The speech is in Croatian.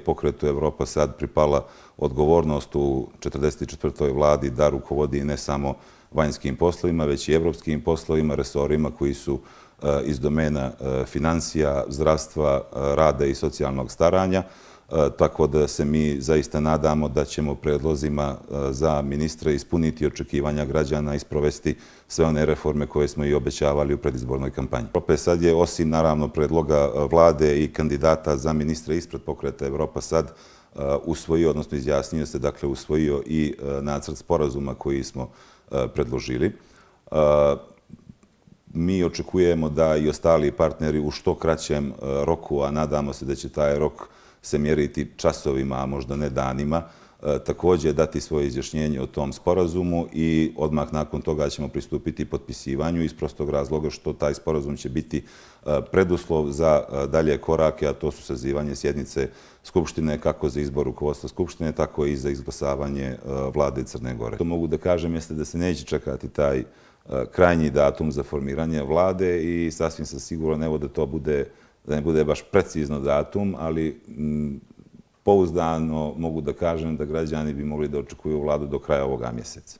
Pokretu Evropa sad pripala odgovornost u 44. vladi da rukovodi ne samo vanjskim poslovima, već i evropskim poslovima, resorima koji su iz domena financija, zdravstva, rada i socijalnog staranja. Tako da se mi zaista nadamo da ćemo predlozima za ministre ispuniti očekivanja građana i sprovesti sve one reforme koje smo i obećavali u predizbornoj kampanji. Evropa sad je, osim naravno predloga vlade i kandidata za ministre ispred Pokreta Evropa sad usvojio, odnosno izjasnio se, dakle usvojio i nacrt sporazuma koji smo predložili. Mi očekujemo da i ostali partneri u što kraćem roku, a nadamo se da će taj rok se mjeriti časovima, a možda ne danima, također dati svoje izjašnjenje o tom sporazumu i odmah nakon toga ćemo pristupiti potpisivanju iz prostog razloga što taj sporazum će biti preduslov za dalje korake, a to su sazivanje sjednice Skupštine, kako za izbor rukovodstva Skupštine, tako i za izglasavanje vlade Crne Gore. To mogu da kažem jeste da se neće čekati taj krajnji datum za formiranje vlade i sasvim sam siguran, evo da ne bude baš precizno datum, ali pouzdano mogu da kažem da građani bi mogli da očekuju vladu do kraja ovoga mjeseca.